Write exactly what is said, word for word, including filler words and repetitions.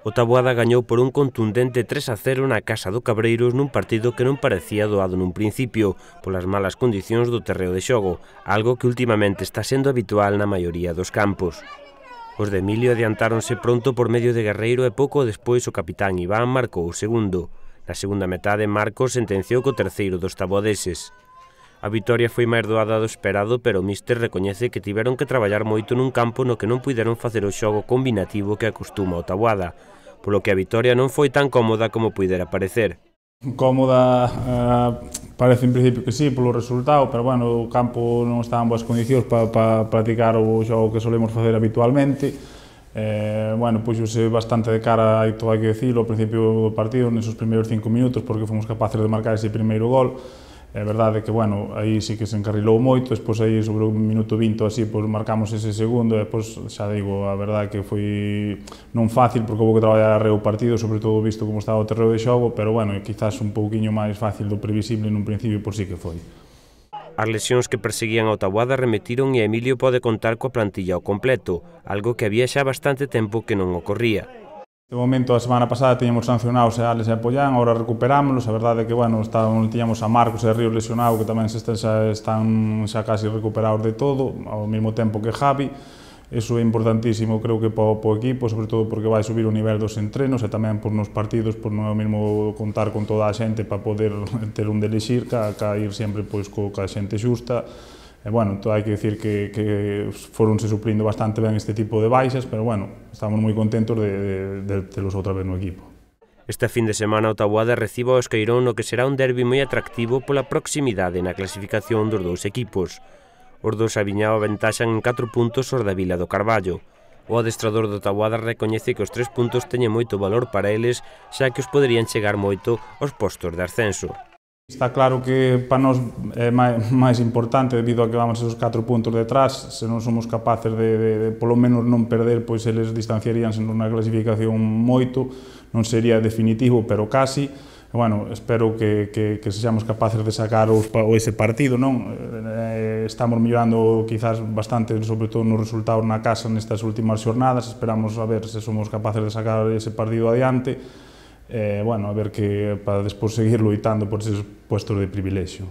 O Taboada gañou por un contundente tres a cero na casa do Cabreiros nun partido que non parecía doado nun principio, polas malas condicións do terreo de xogo, algo que últimamente está sendo habitual na maioría dos campos. Os de Emilio adiantáronse pronto por medio de Guerreiro e pouco despois o capitán Iván marcou o segundo. Na segunda metade Marcos sentenciou co terceiro dos taboadeses. A vitoria foi máis doada do esperado, pero o míster recoñece que tiveron que traballar moito nun campo no que non puideron facer o xogo combinativo que acostuma o Taboada, polo que a vitoria non foi tan cómoda como puidera parecer. Cómoda, eh, parece en principio que sí, polo resultado, pero bueno, o campo non está en boas condicións para pa practicar o xogo que solemos facer habitualmente. Eh, bueno, puxose bastante de cara, hai todo hai que dicilo, ao principio do partido, nesos primeiros cinco minutos, porque fomos capaces de marcar ese primeiro gol. É verdade que, bueno, aí sí que se encarrilou moito, despois aí sobre un minuto vinte así, pois marcamos ese segundo, e despois, xa digo, a verdade que foi non fácil, porque houve que traballar arreo o partido, sobre todo visto como estaba o terreo de xogo, pero, bueno, quizás un pouquiño máis fácil do previsible nun principio, por sí que foi. As lesións que perseguían ao Taboada remetiron e Emilio pode contar coa plantilla ao completo, algo que había xa bastante tempo que non ocorría. De momento, a semana pasada tiñamos sancionados a Alex e a Pollán, agora recuperámonos, a verdade é que, bueno, estábamos, tiñamos a Marcos e a Ríos lesionado, que tamén se están, xa, están xa casi recuperados de todo, ao mesmo tempo que Javi. Eso é importantísimo, creo que para o equipo, sobre todo porque vai subir o nivel dos entrenos e tamén por nos partidos, por non é o mesmo contar con toda a xente para poder ter un de elixir, ca, ca ir sempre pois, co, ca xente xusta. E, bueno, todo hai que dicir que, que foronse suplindo bastante ben este tipo de baixas, pero, bueno, estamos moi contentos de, de, de telos outra vez no equipo. Este fin de semana o Taboada recibe o Esqueirón no que será un derbi moi atractivo pola proximidade na clasificación dos dous equipos. Os dous Aviñao aventaxan en catro puntos os da Vila do Carballo. O adestrador do Taboada recoñece que os tres puntos teñen moito valor para eles, xa que os poderían chegar moito aos postos de ascenso. Está claro que para nós é máis importante debido a que vamos esos catro puntos detrás, se non somos capaces de, de, de polo menos non perder, pois eles distanciaríanse nunha clasificación moito, non sería definitivo, pero casi. E, bueno, espero que, que, que sexamos capaces de sacar os, o ese partido, non? Eh, estamos mellorando quizás bastante, sobre todo nos resultados na casa nestas últimas xornadas, esperamos a ver se somos capaces de sacar ese partido adiante. Eh, bueno, a ver que para despois seguir loitando por esos puestos de privilexio.